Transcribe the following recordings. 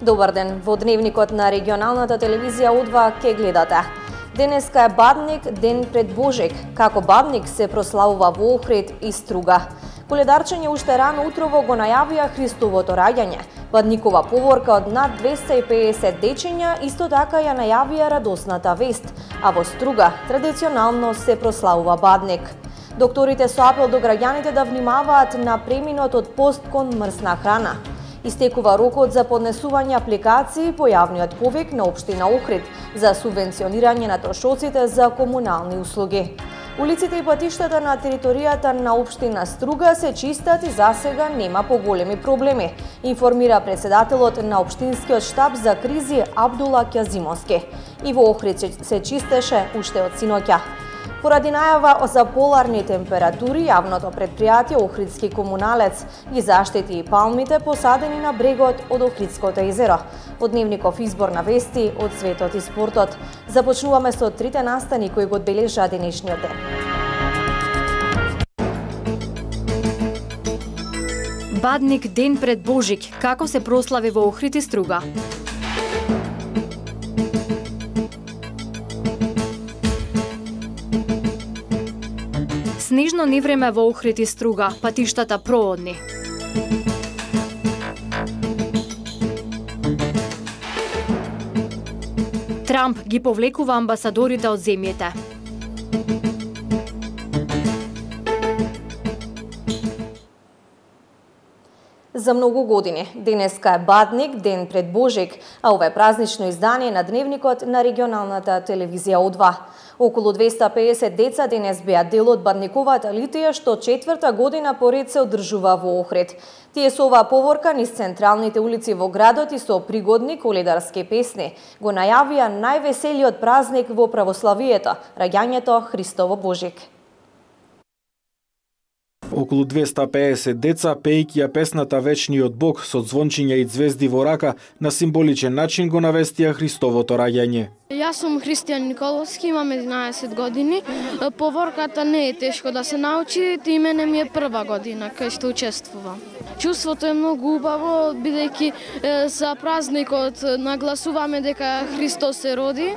Добар ден, во дневникот на регионалната телевизија О2 ке гледате. Денеска е Бадник, ден пред Божик. Како Бадник се прославува во Охрид и Струга. Коледарчење уште рано утрово го најавија Христовото раѓање. Бадникова поворка од над 250 дечиња исто така ја најавија радосната вест, а во Струга традиционално се прославува Бадник. Докторите со апел до граѓаните да внимаваат на преминот од пост кон мрсна храна. Истекува рокот за поднесување апликации по јавниот повик на општина Охрид за субвенционирање на трошоците за комунални услуги. Улиците и патиштата на територијата на општина Струга се чистат и засега нема поголеми проблеми, информира председателот на општинскиот штаб за кризи Абдула Кјазимовски. И во Охрид се чистеше уште од синоќа. Поради најава за поларни температури, јавното предпријатие Охридски комуналец ги заштити и палмите посадени на брегот од Охридското езеро. Од дневников избор на вести од светот и спортот. Започнуваме со трите настани кои го одбележаа денешниот ден. Бадник, ден пред Божик. Како се прослави во Охрид и Струга? Снежно невреме во Охрид и Струга, патиштата проодни. Трамп ги повлекува амбасадорите од земјите. За многу години, денеска е Бадник, ден пред Божик, а ова е празнично издание на дневникот на регионалната телевизија О2. Околу 250 деца денес беа дел од Бадниковата литија, што четврта година поред се одржува во Охрид. Тие со оваа поворка низ централните улици во градот и со пригодни коледарски песни го најавија највеселиот празник во православието, раѓањето Христово Божик. Околу 250 деца, пејќи ја песната Вечниот Бог со звончиња и звезди во рака, на символичен начин го навестија Христовото раѓање. Јас сум Христијан Николовски, имам 11 години. Поворката не е тешко да се научи, и мене ми е прва година кај што учествувам. Чувството е многу убаво, бидејќи за празникот нагласуваме дека Христос се роди.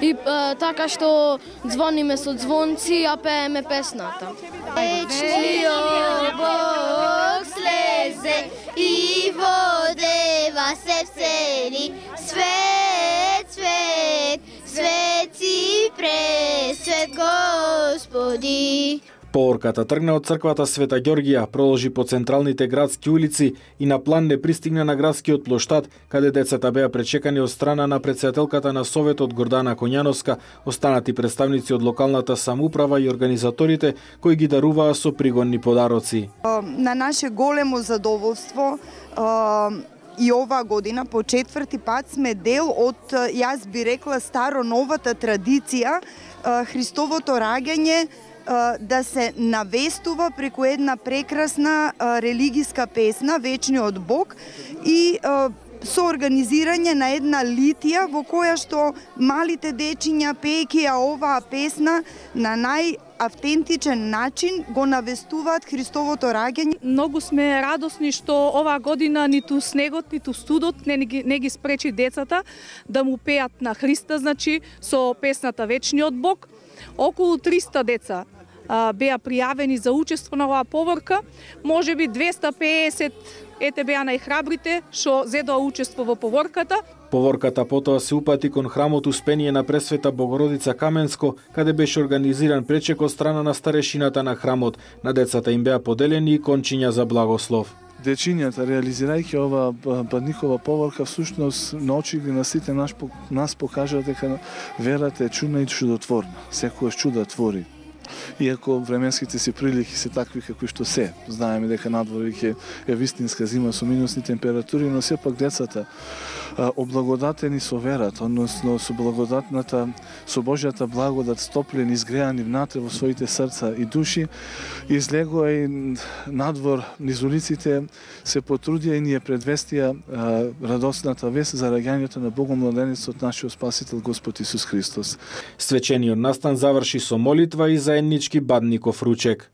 И така што звониме со звонци, а пееме песната. Вечниот Бог слезе и водева се всели, свет, свет, свети пресвет Господи. Поворката тргна од црквата Света Ѓоргија, проложи по централните градски улици и на план не пристигна на градскиот плоштад, каде децата беа пречекани од страна на претседателката на Советот Гордана Коњановска, останати представници од локалната самоуправа и организаторите кои ги даруваа со пригодни подароци. На наше големо задоволство и оваа година по четврти пат сме дел од, јас би рекла, старо-новата традиција Христовото раѓање да се навестува преку една прекрасна религиска песна Вечниот Бог и со организирање на една литија во која што малите дечиња пејќи ја оваа песна на најавтентичен начин го навестуваат Христовото раѓање. Многу сме радосни што оваа година ниту снегот, ниту студот не ги спречи децата да му пеат на Христа, значи со песната Вечниот Бог. Околу 300 деца беа пријавени за учество на оваа поворка, можеби 250 беа најхрабрите што зедоа учество во поворката. Поворката потоа се упати кон храмот Успение на Пресвета Богородица Каменско, каде беше организиран пречек од страна на старешината на храмот. На децата им беа поделени и кончиња за благослов. Дечињата, реализирајќи оваа Бадникова поворка, всушност на очите на сите нас покажа дека верата е чудна и чудотворна. Секојаш чуда твори. Иако временските си прилики се такви какви што се, знаеме дека надвор ќе е вистинска зима со минусни температури, но сепак децата облагодатени со верата, односно со благодатната, со Божјата благодат стоплени, изгреани внатре во своите срца и души, излегоа и надвор низ улиците, се потрудија и ние предвестија радосната вест за раѓањето на Богомладенецот, нашиот Спасител Господ Исус Христос. Свечениот настан заврши со молитва и заеднички Бадников ручек.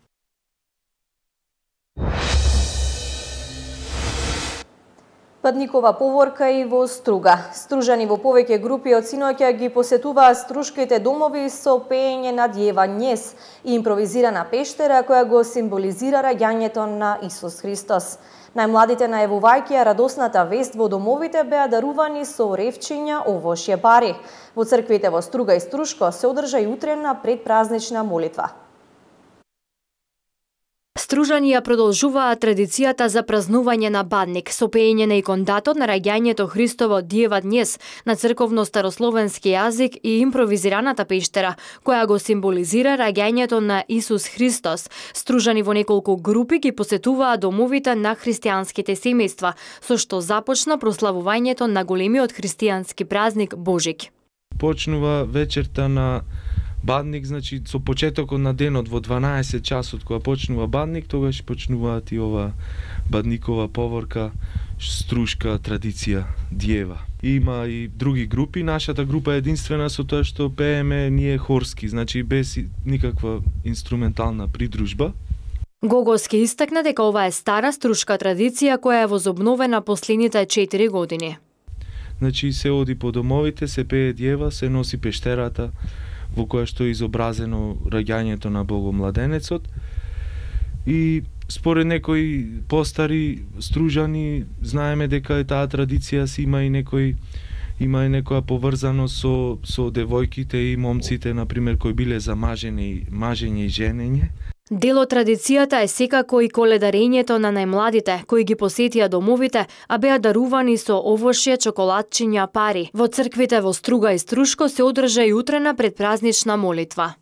Бадникова поворка и во Струга. Стружани во повеќе групи од синоќа ги посетуваат струшките домови со пеење на Дјева Нес и импровизирана пештера која го символизира раѓањето на Исус Христос. Најмладите најавувајќи радосната вест во домовите беа дарувани со ревчиња, овошје, пари. Во црквите во Струга и Струшко се одржа и утрена предпразнична молитва. Стружани ја продолжуваат традицијата за празнување на Бадник со пеење на икондатот на раѓањето Христово Дјева Днес на црковно-старословенски јазик и импровизираната пештера, која го символизира раѓањето на Исус Христос. Стружани во неколку групи ги посетуваат домовите на христијанските семејства, со што започна прославувањето на големиот христијански празник Божик. Почнува вечерта на Бадник, значи со почетокот на денот во 12 часот кога почнува Бадник, тогаш почнуваат и ова Бадникова поворка, струшка традиција Дјева. Има и други групи, нашата група е единствена со тоа што пееме ние хорски, значи без никаква инструментална придружба. Гогоски истакна дека ова е стара струшка традиција која е возобновена последните 4 години. Значи се оди по домовите, се пее Дјева, се носи пештерата во која што е изобразено раѓањето на Богомладенецот. И според некои постари стружани знаеме дека таа традиција си има и некоја поврзаност со девојките и момците, на пример, кои биле за мажење и женење. Дел од традицијата е секако и коледарењето на најмладите, кои ги посетија домовите, а беа дарувани со овошје, чоколадчиња, пари. Во црквите во Струга и Струшко се одржа и утрена предпразнична молитва.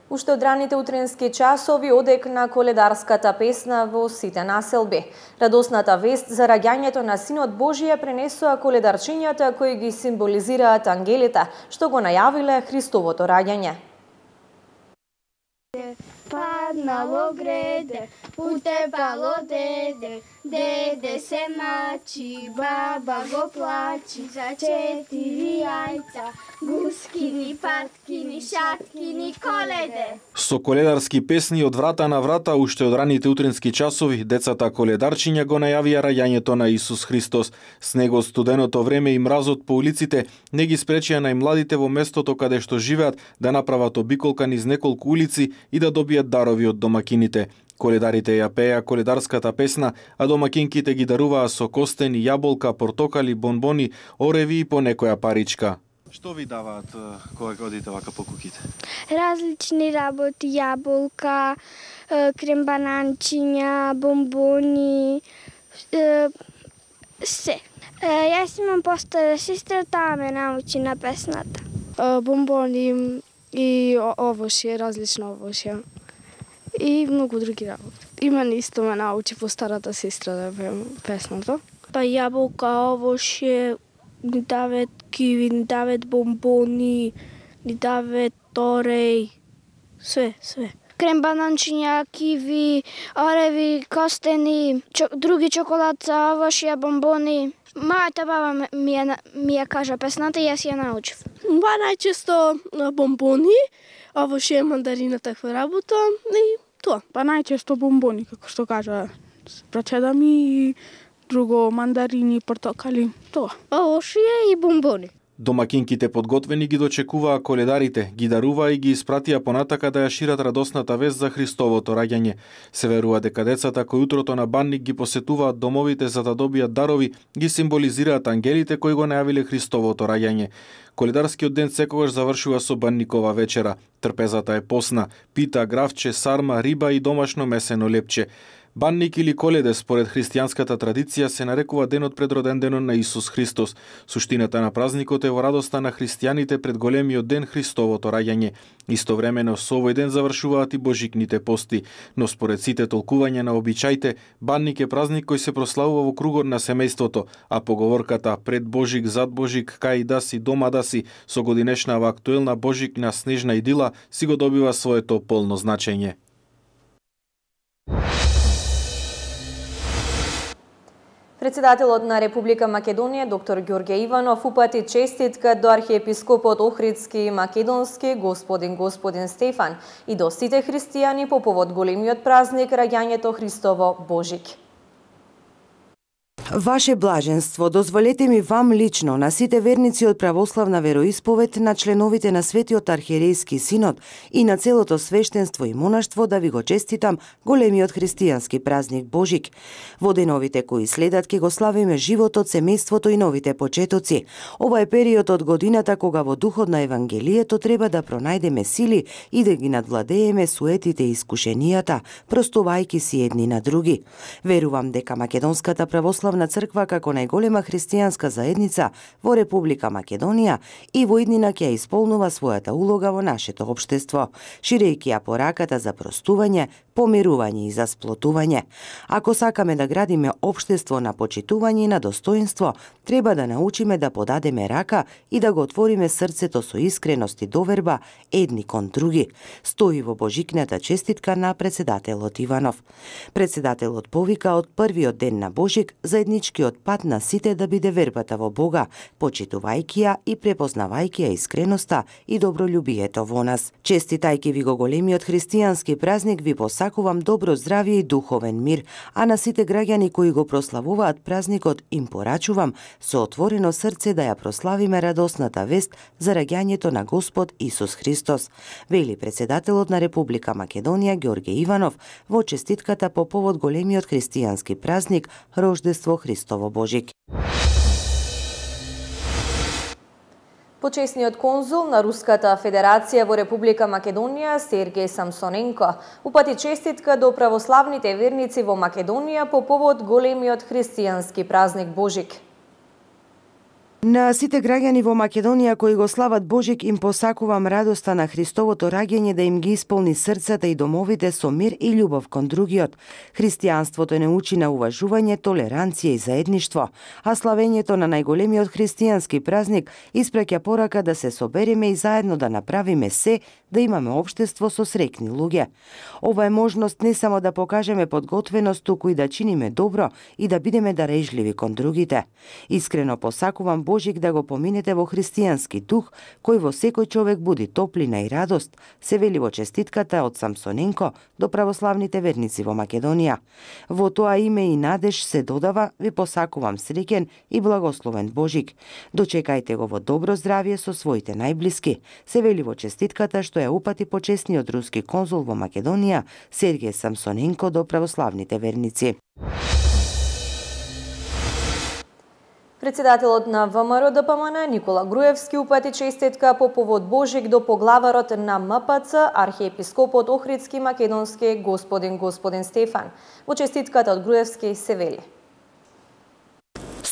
Уште од раните утренски часови одек на коледарската песна во сите населби. Радосната вест за раѓањето на Синот Божие пренесоа коледарчињата кои ги символизираат ангелите, што го најавиле Христовото раѓање. Паднало греде, утепало деде, деде се мачи, баба го плачи за 4 јајца, гускини, паткини, шаткини, коледе. Со коледарски песни од врата на врата, уште од раните утренски часови, децата коледарчиња го најавија раѓањето на Исус Христос. Снегот, студеното време и мразот по улиците не ги спречија најмладите во местото каде што живеат да направат обиколка низ неколку улици и да добијат дарови од домакините. Коледарите ја пееа коледарската песна, а домакинките ги даруваа со костени, јаболка, портокали, бонбони, ореви и по некоја паричка. Што ви даваат кога одите вака по куќите? Различни работи, јаболка, крембананчиња, бомбони, се. Јас имам постара сестра, таа ме научи на песната. Бомбони и овошје, различно овошје. И многу други работи. Иман исто ме научи по старата сестра да пеем песната. Па јаболка, овошје, ни дават киви, ни дават бомбони, ни дават тореј, све. Крембананчиња, киви, ореви, костени, други чоколадца, овошје, бомбони. Мојата баба ми ја кажа песната и јас ја научив. Ба најчесто бомбони, овошје, мандарина, таква работа и тоа. Па најчесто бомбони, како што кажа прачеда ми, и друго мандарини, портокали, тоа. Овошје и бомбони. Домакинките подготвени ги дочекуваа коледарите, ги даруваа и ги испратија понатака да ја шират радосната вест за Христовото раѓање. Се верува дека децата кои утрото на Бадник ги посетуваат домовите за да добијат дарови, ги символизираат ангелите кои го најавиле Христовото раѓање. Коледарскиот ден секогаш завршува со Бадникова вечера. Трпезата е посна, пита, гравче, сарма, риба и домашно месено лепче. Бадник или Коледе според христијанската традиција се нарекува денот пред роденденот на Исус Христос. Суштината на празникот е во радоста на христијаните пред големиот ден Христовото раѓање. Истовремено со овој ден завршуваат и божикните пости, но според сите толкувања на обичаите, Бадник е празник кој се прославува во кругот на семејството, а поговорката пред Божик, зад Божик, кај да си, дома да си, со годинешнава актуелна божикна снежна идила си го добива своето полно значење. Председателот на Република Македонија, доктор Ѓорѓе Иванов, упати честитка до архиепископот Охридски и Македонски, господин Стефан, и до сите христијани по повод големиот празник раѓањето Христово Божик. Ваше блаженство, дозволете ми вам лично, на сите верници од православна вероисповед, на членовите на Светиот архиерејски синод и на целото свештенство и монаштво да ви го честитам големиот христијански празник Божик. Во деновите кои следат ќе го славиме животот, семејството и новите почетоци. Ова е период од годината кога во духот на Евангелието треба да пронајдеме сили и да ги надвладееме суетите и искушенијата, простувајќи си едни на други. Верувам дека Македонската православна црква како најголема христијанска заедница во Република Македонија и во иднина ќе исполнува својата улога во нашето општество, ширејќи ја пораката за простување, помирување и за сплотување. Ако сакаме да градиме општество на почитување и на достоинство, треба да научиме да подадеме рака и да го отвориме срцето со искреност и доверба едни кон други, стои во Божикната честитка на председателот Иванов. Председателот повика од првиот ден на Божик заедничкиот пат на сите да биде вербата во Бога, почитувајќи ја и препознавајќи ја искреноста и добролюбието во нас. Честитајќи ви го големиот христијански празник, ви посакувам добро здравје и духовен мир, а на сите граѓани кои го прославуваат празникот им порачувам со отворено срце да ја прославиме радосната вест за раѓањето на Господ Исус Христос, вели председателот на Република Македонија Ѓорѓе Иванов во честитката по повод големиот христијански празник Рождество Христово Божик. Почесниот конзул на Руската Федерација во Република Македонија Сергеј Самсоненко упати честитка до православните верници во Македонија по повод големиот христијански празник Божик. На сите граѓани во Македонија кои го слават Божик им посакувам радоста на Христовото раѓање да им ги исполни срцата и домовите со мир и љубов кон другиот. Христијанството не учи на уважување, толеранција и заедништво, а славењето на најголемиот христијански празник испраќа порака да се собереме и заедно да направиме се да имаме општество со среќни луѓе. Ова е можност не само да покажеме подготвеност, туку и да чиниме добро и да бидеме дарежливи кон другите. Искрено посакувам Божик да го поминете во христијански дух, кој во секој човек буди топлина и радост, се вели во честитката од Самсоненко до православните верници во Македонија. Во тоа име и надеж се додава, ви посакувам среќен и благословен Божик. Дочекајте го во добро здравје со своите најблиски, се вели во честитката што ја упати почесниот руски конзул во Македонија Сергеј Самсоненко до православните верници. Председателот на ВМРО ДПМН Никола Груевски упати честитка по повод Божик до поглаварот на МПЦ, архиепископот Охридски Македонски господин Стефан. Во честитката од Груевски се вели: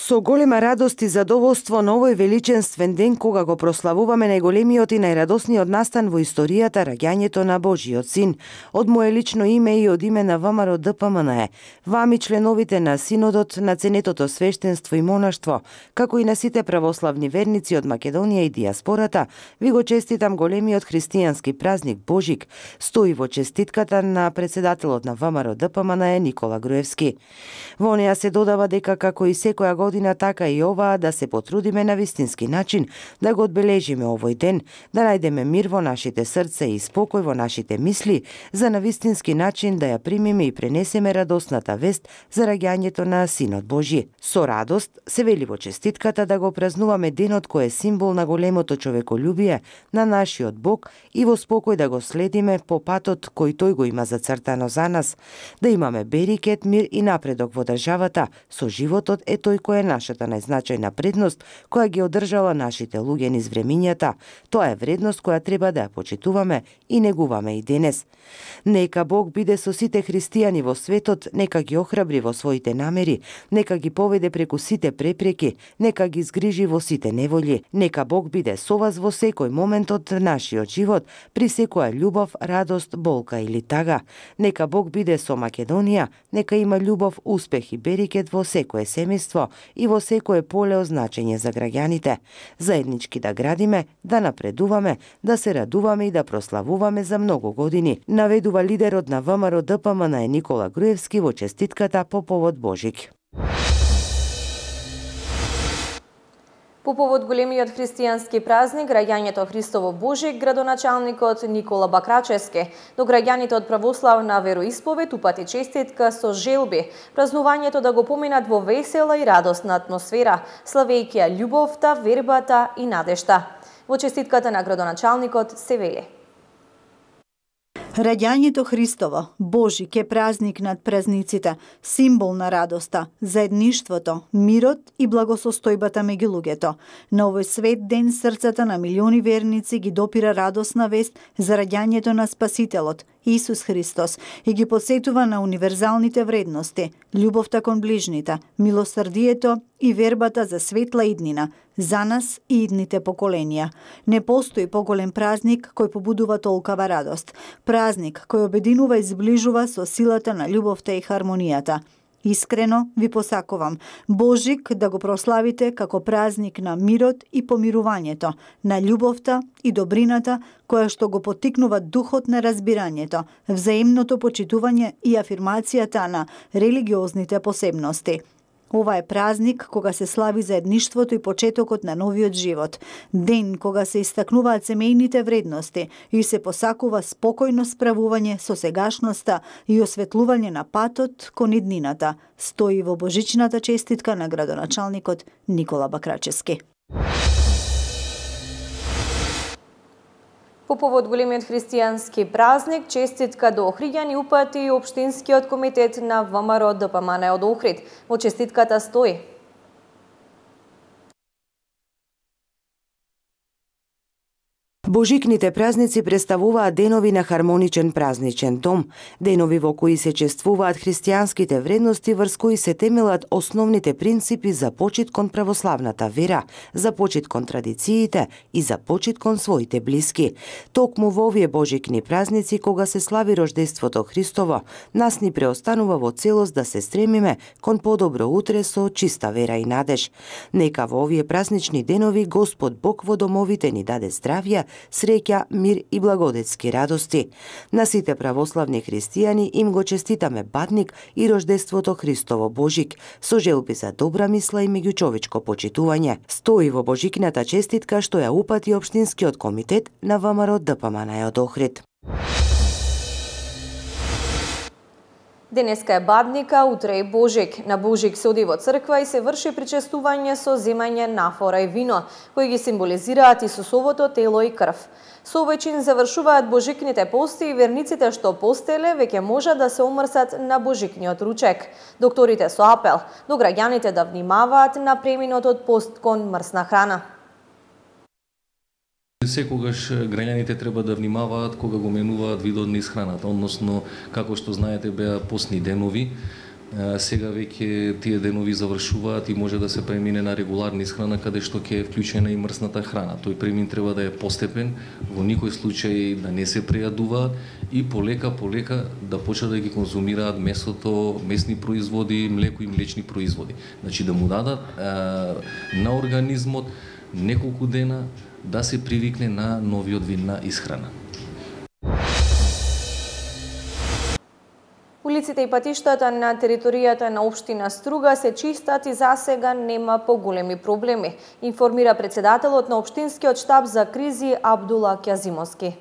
Со голема радост и задоволство на овој величенствен ден кога го прославуваме најголемиот и најрадосниот настан во историјата, раѓањето на Божиот Син. Од мое лично име и од име на ВМРО ДПМН, вами членовите на Синодот, на ценетото свештенство и монаштво, како и на сите православни верници од Македонија и диаспората, ви го честитам големиот христијански празник Божик, стои во честитката на председателот на ВМРО ДПМН Никола Груевски. Во неа се додава дека како и секоја година, така и оваа, да се потрудиме на вистински начин да го одбележиме овој ден, да најдеме мир во нашите срца и спокој во нашите мисли, за на вистински начин да ја примиме и пренесеме радосната вест за раѓањето на Синот Божи. Со радост се вели во честитката да го празнуваме денот кој е символ на големото човеколюбие на нашиот Бог и во спокој да го следиме по патот кој тој го има зацртано за нас, да имаме берикет, мир и напредок во државата, со животот е тој кој е нашата најзначајна предност која ги одржала нашите луѓе низ времињата. Тоа е вредност која треба да ја почитуваме и негуваме и денес. Нека Бог биде со сите христијани во светот, нека ги охрабри во своите намери, нека ги поведе преку сите препреки, нека ги згрижи во сите неволји. Нека Бог биде со вас во секој момент од нашиот живот, при секоја љубов, радост, болка или тага. Нека Бог биде со Македонија, нека има љубов, успех и берикет во секое семејство и во секое поле означење за граѓаните. Заеднички да градиме, да напредуваме, да се радуваме и да прославуваме за многу години, наведува лидерот на ВМРО ДПМН Никола Груевски во честитката по повод Божик. По повод големиот христијански празник, раѓањето Христово Божик, градоначалникот Никола Бакрачевски до граѓаните од православна вероисповед упати честитка со желби, празнувањето да го поминат во весела и радосна атмосфера, славејќи ја љубовта, вербата и надежта. Во честитката на градоначалникот се вели: Раѓањето Христово, Божик е празник над празниците, символ на радоста, заедништвото, мирот и благосостојбата меѓу луѓето. На овој свет ден срцата на милиони верници ги допира радосна вест за раѓањето на Спасителот, Исус Христос, и ги подсетува на универзалните вредности, љубовта кон ближните, милосрдието и вербата за светла иднина, за нас и идните поколенија. Не постои поголем празник кој побудува толкава радост. Празник кој обединува и зближува со силата на љубовта и хармонијата. Искрено ви посакувам Божик да го прославите како празник на мирот и помирувањето, на љубовта и добрината која што го поттикнува духот на разбирањето, взаимното почитување и афирмацијата на религиозните посебности. Ова е празник кога се слави заедништвото и почетокот на новиот живот, ден кога се истакнуваат семејните вредности и се посакува спокојно справување со сегашноста и осветлување на патот кон иднината, стои во божичната честитка на градоначалникот Никола Бакрачевски. По повод големиот христијански празник, честитка до Охриѓани упати Општинскиот комитет на ВМРО ДПМН од Охрид. Во честитката стои: Божикните празници представуваат денови на хармоничен празничен дом, денови во кои се чествуваат христијанските вредности врз кои се темелат основните принципи за почит кон православната вера, за почит кон традициите и за почит кон своите блиски. Токму во овие божикни празници, кога се слави рождеството Христово, нас ни преостанува во целост да се стремиме кон подобро утре со чиста вера и надеж. Нека во овие празнични денови Господ Бог во домовите ни даде здравје, среќа, мир и благодетски радости. На сите православни христијани им го честитаме Бадник и рождеството Христово Божик, со желби за добра мисла и меѓучовечко почитување. Стои во божикната честитка што ја упати Општинскиот комитет на ВМРО ДПМН од Охрид. Денеска е Бадника, утре е Божик. На Божик се оди во црква и се врши причестување со земање нафора и вино, кои ги символизираат Исусовото тело и крв. Со овој чин завршуваат божикните пости и верниците што постеле веќе можат да се омрсат на божикниот ручек. Докторите со апел до граѓаните да внимаваат на преминотот пост кон мрсна храна. Секогаш граѓаните треба да внимаваат кога го менуваат видот низ храната, односно како што знаете беа постни денови. Сега веќе тие денови завршуваат и може да се премине на регуларна исхрана каде што ќе е вклучена и мрсната храна. Тој премин треба да е постепен, во никој случај да не се прејадуваат и полека да почнат да ги конзумираат месото, месни производи, млеко и млечни производи. Значи да му дадат на организмот неколку дена да се привикне на новиот вид на исхрана. Улиците и патиштата на територијата на општина Струга се чистат и засега нема поголеми проблеми, информира председателот на Општинскиот штаб за кризи Абдула Кјазимовски.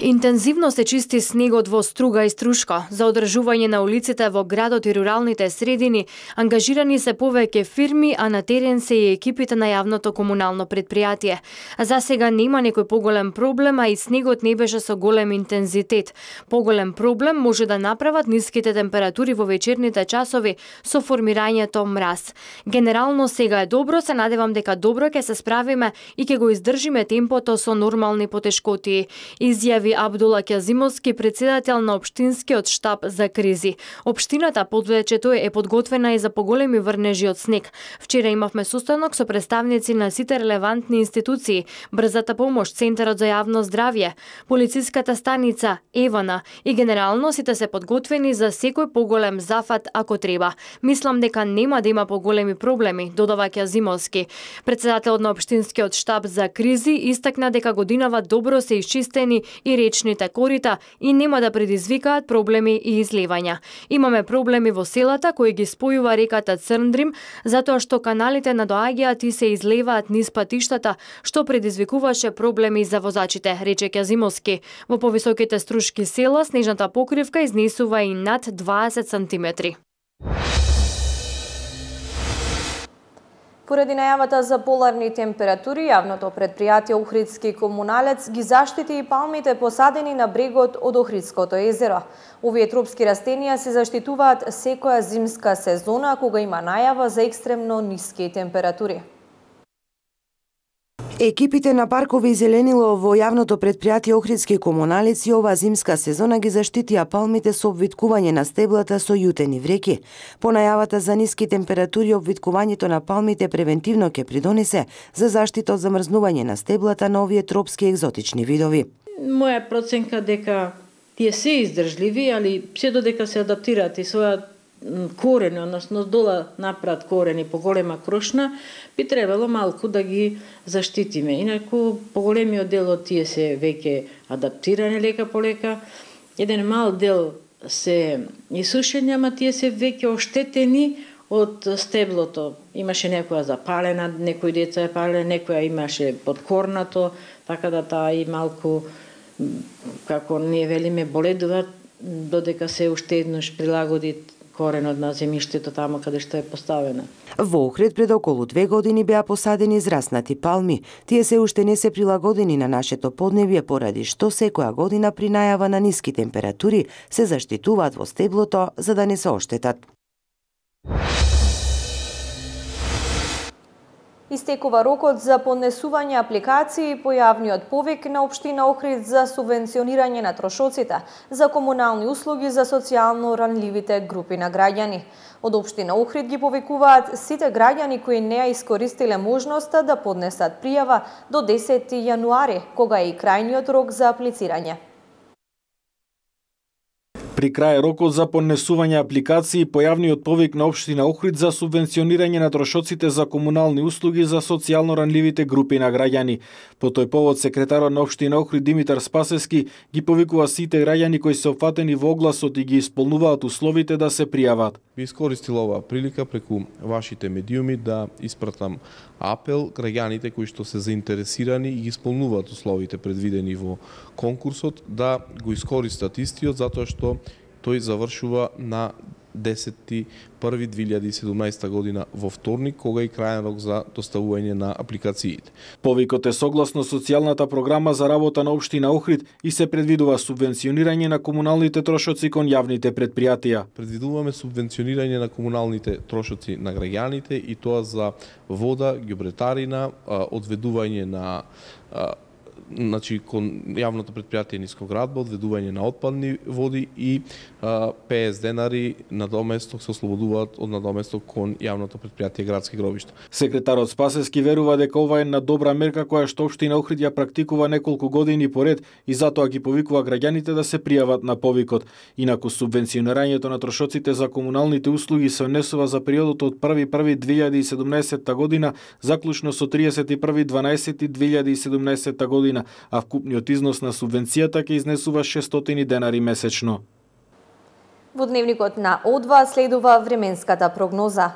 Интензивно се чисти снегот во Струга и Струшко. За одржување на улиците во градот и руралните средини ангажирани се повеќе фирми, а на терен се и екипите на јавното комунално предпријатие. За сега нема некој поголем проблем, а и снегот не беше со голем интензитет. Поголем проблем може да направат ниските температури во вечерните часови со формирањето мраз. Генерално сега е добро, се надевам дека добро ќе се справиме и ќе го издржиме темпото со нормални потешкоти, изјави Абдула Кјазимовски, председател на Општинскиот штаб за кризи. Општината подвече тој е подготвена и за поголеми врнежи од снег. Вчера имавме состанок со представници на сите релевантни институции, брзата помош, Центарот за јавно здравје, полициската станица, Евана и генерално сите се подготвени за секој поголем зафат ако треба. Мислам дека нема да има поголеми проблеми, додава Кјазимовски. Председателот на Општинскиот штаб за кризи истакна дека годинава добро се исчистени и и речните корита и нема да предизвикаат проблеми и излевања. Имаме проблеми во селата кои ги спојува реката Црндрим, затоа што каналите надоаѓаат и се излеваат низ патиштата, што предизвикуваше проблеми за возачите, рече Ќазимовски. Во повисоките Струшки села снежната покривка изнесува и над 20 сантиметри. Поради најавата за поларни температури, јавното предпријатие Охридски комуналец ги заштити и палмите посадени на брегот од Охридското езеро. Овие тропски растенија се заштитуваат секоја зимска сезона кога има најава за екстремно ниски температури. Екипите на паркови и зеленило во јавното предпријатие Охридски комуналици оваа зимска сезона ги заштитија палмите со обвиткување на стеблата со јутени вреки. По најавата за ниски температури, обвиткувањето на палмите превентивно ќе придонесе за заштита од замрзнување на стеблата на овие тропски екзотични видови. Моја проценка дека тие се издржливи, али се додека се адаптираат и својат корени, односно дола направат корени по голема крошна, би требало малку да ги заштитиме. Инаку поголемиот дел од тие се веќе адаптирани лека по лека. Еден мал дел се исушени, ама тие се веќе оштетени од стеблото. Имаше некоја запалена, некои деца е палена, некоја имаше подкорнато, така да таа и малку, како ние велиме, боледува, додека се уште еднаш прилагоди коренот на земјиштето таму каде што е поставена. Во Охрид пред околу 2 години беа посадени израснати палми. Тие се уште не се прилагодени на нашето поднебје, поради што секоја година при најава на ниски температури се заштитуваат во стеблото за да не се оштетат. Истекува рокот за поднесување апликации по јавниот повик на општина Охрид за субвенционирање на трошоците за комунални услуги за социјално ранливите групи на граѓани. Од општина Охрид ги повикуваат сите граѓани кои не ја искористиле можноста да поднесат пријава до 10 јануари, кога е и крајниот рок за аплицирање. При крај рокот за поднесување апликации по јавниот повик на општина Охрид за субвенционирање на трошоците за комунални услуги за социјално ранливите групи на граѓани. По тој повод секретарот на општина Охрид Димитар Спасевски ги повикува сите граѓани кои се опфатени во огласот и ги исполнуваат условите да се пријават. Би искористил оваа прилика преку вашите медиуми да испратам апел граѓаните кои што се заинтересирани и ги исполнуваат условите предвидени во конкурсот да го искористат истиот, затоа што тој завршува на 10.1.2017 година во вторник, кога и крајен рок за доставување на апликациите. Повикот е согласно социјалната програма за работа на општина Охрид и се предвидува субвенционирање на комуналните трошоци кон јавните предпријатија. Предвидуваме субвенционирање на комуналните трошоци на граѓаните и тоа за вода, ѓубретарина, одведување на кон јавното предпријатие Нискоградба, одведување на отпадни води и 50 денари надоместок се ослободуваат од надоместок кон јавното предпријатие Градски гробишта. Секретарот Спасевски верува дека ова е една добра мерка која што општина Охрид ја практикува неколку години поред и затоа ги повикува граѓаните да се пријават на повикот. Инаку субвенционирањето на трошоците за комуналните услуги се однесува за периодот од 1.1.2017 година заклучно со 31.12.2017 година, а вкупниот износ на субвенцијата ќе изнесува 600 денари месечно. Во дневникот на О2 следува временската прогноза.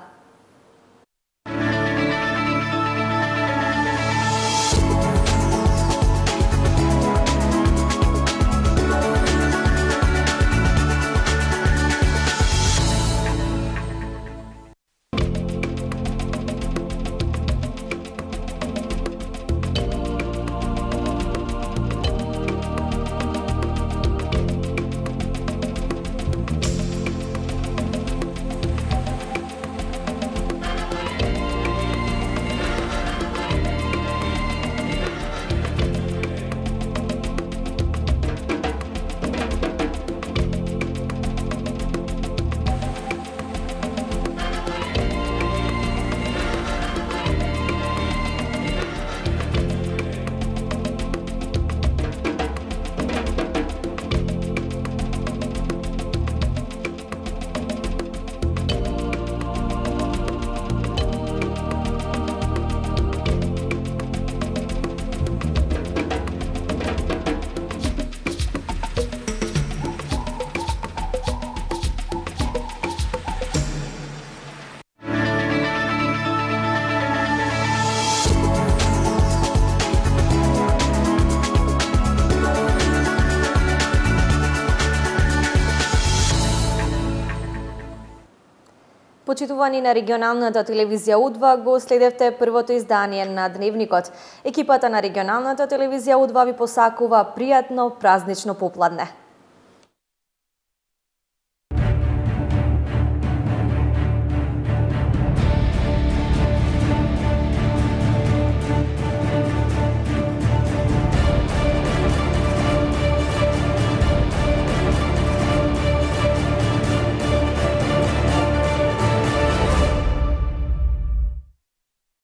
Почитувани на регионалната телевизија Удва, го следевте првото издание на Дневникот. Екипата на регионалната телевизија Удва ви посакува пријатно празнично попладне.